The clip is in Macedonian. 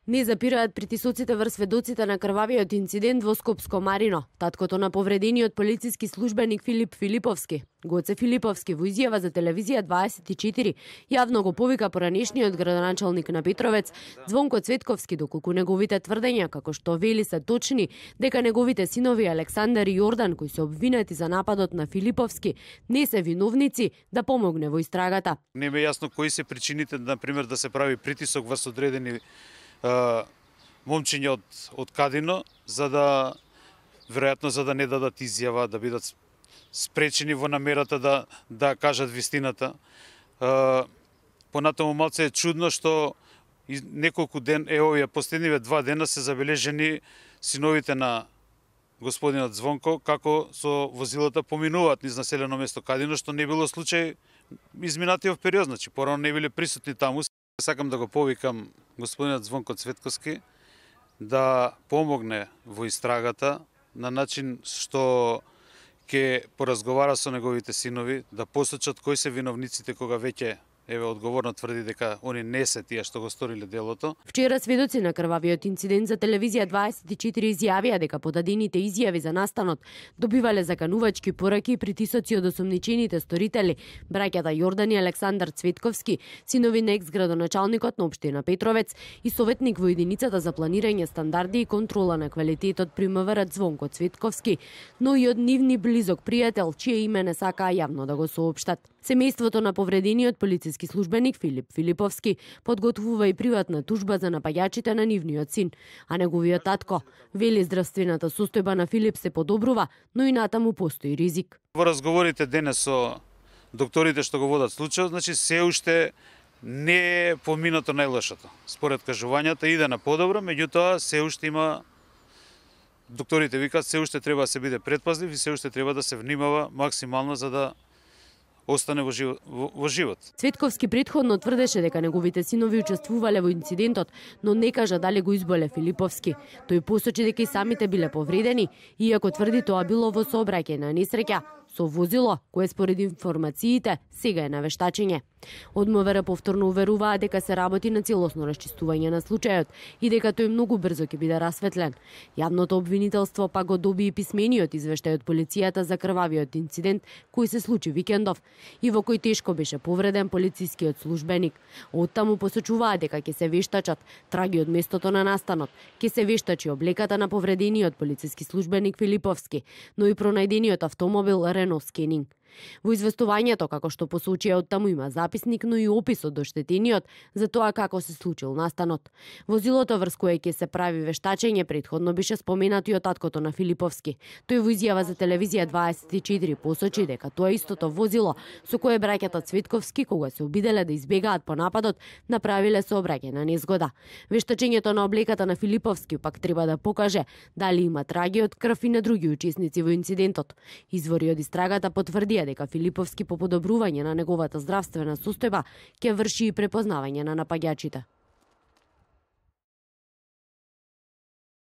Не запираат притисоците врз сведоците на крвавиот инцидент во Скопско Марино. Таткото на повредениот полициски службеник Филип Филиповски, Гоце Филиповски, во изјава за телевизија 24, јавно го повика поранешниот градоначалник на Петровец, Звонко Цветковски, доколку неговите тврдења, како што вели, се точни, дека неговите синови Александар и Јордан, кои се обвинети за нападот на Филиповски, не се виновници, да помогне во истрагата. Не ме јасно кои се причините, например, да се прави притисок врз одредени момчиња од Кадино, веројатно за да не дадат изјава, да бидат спречени во намерата да кажат вистината. Понатаму малце е чудно што неколку ден, овие последниве 2 дена се забележени синовите на господинот Звонко како со возилата поминуваат низ населено место Кадино, што не било случај изминатиот период, значи порано не биле присутни таму. Сакам да го повикам господинот Звонко Цветковски да помогне во истрагата на начин што ќе поразговара со неговите синови, да посочат кои се виновниците кога веќе одговорно тврди дека они не се тие што го сториле делото. Вчера сведоци на крвавиот инцидент за телевизија 24 изјавија дека подадените изјави за настанот добивале заканувачки пораки и притисоци од осомничените сторители, браќата Јордан и Александар Цветковски, синови на екс-градоначалникот на општина Петровец и советник во единицата за планирање стандарди и контрола на квалитетот при МВР Звонко Цветковски, но и од нивни близок пријател, чие име не сакаа јавно да го соопштат. Семејството на повредениот полициски службеник Филип Филиповски подготвува и приватна тужба за напаѓачите на нивниот син, а неговиот татко вели здравствената состојба на Филип се подобрува, но и натаму постои ризик. Во разговорите денес со докторите што го водат случајот, значи се уште не е поминато најлошото. Според кажувањата иде на подобро, меѓутоа се уште има, докторите викаат, се уште треба да се биде предпазлив и се уште треба да се внимава максимално за да остане во живот. Цветковски претходно тврдеше дека неговите синови учествувале во инцидентот, но не кажа дали го изболе Филиповски. Тој посочи дека и самите биле повредени, иако тврди тоа било во сообраќајна несреќа со возило кое според информациите сега е на вештачење. Од МВР повторно уверуваа дека се работи на целосно расчистување на случајот и дека тој многу брзо ќе биде расветлен. Јавното обвинителство пак го доби и писмениот извештај од полицијата за крвавиот инцидент кој се случи викендов и во кој тешко беше повреден полицискиот службеник. Оттаму посочуваа дека ќе се вештачат траги од местото на настанот, ќе се вештачи облеката на повредениот полициски службеник Филиповски, но и пронајдениот автомобил Рено Скенинг. Во известувањето, како што посочија оттаму, има записник, но и опис од оштетениот за тоа како се случил настанот. Возилото врз кое ќе се прави вештачење претходно беше споменато и од таткото на Филиповски. Тој во изјава за телевизија 24 посочи дека тоа истото возило со кое браќата Цветковски, кога се обиделе да избегаат по нападот, направиле сообраќајна незгода. Вештачењето на облеката на Филиповски пак треба да покаже дали има траги од крв и на други учесници во инцидентот. Извори од истрагата потврдија дека Филиповски по подобрување на неговата здравствена состојба ќе врши и препознавање на напаѓачите.